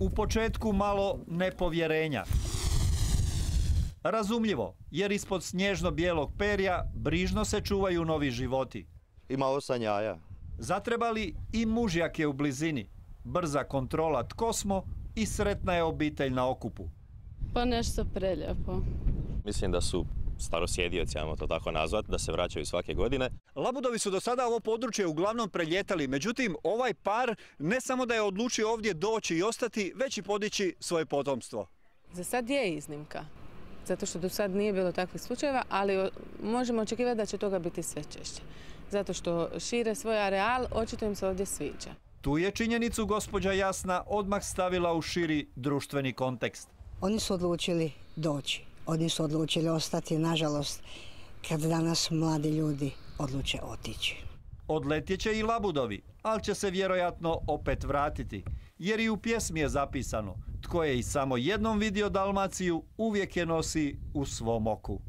U početku malo nepovjerenja. Razumljivo, jer ispod snježno-bijelog perja brižno se čuvaju novi životi. Ima 8 jaja. Zatrebali i mužjake u blizini. Brza kontrola tko smo i sretna je obitelj na okupu. Pa nešto preljepo. Mislim da su starosjedioci, ajmo to tako nazvati, da se vraćaju svake godine. Labudovi su do sada ovo područje uglavnom preljetali, međutim ovaj par ne samo da je odlučio ovdje doći i ostati, već i podići svoje potomstvo. Za sad je iznimka, zato što do sad nije bilo takvih slučajeva, ali možemo očekivati da će toga biti sve češće. Zato što šire svoj areal, očito im se ovdje sviđa. Tu je činjenicu gospođa Jasna odmah stavila u širi društveni kontekst. Oni su odlučili doći, oni su odlučili ostati, nažalost, kad danas mladi ljudi odluče otići. Odletjet će i Labudovi, ali će se vjerojatno opet vratiti, jer i u pjesmi je zapisano: tko je i samo jednom vidio Dalmaciju, uvijek je nosi u svom oku.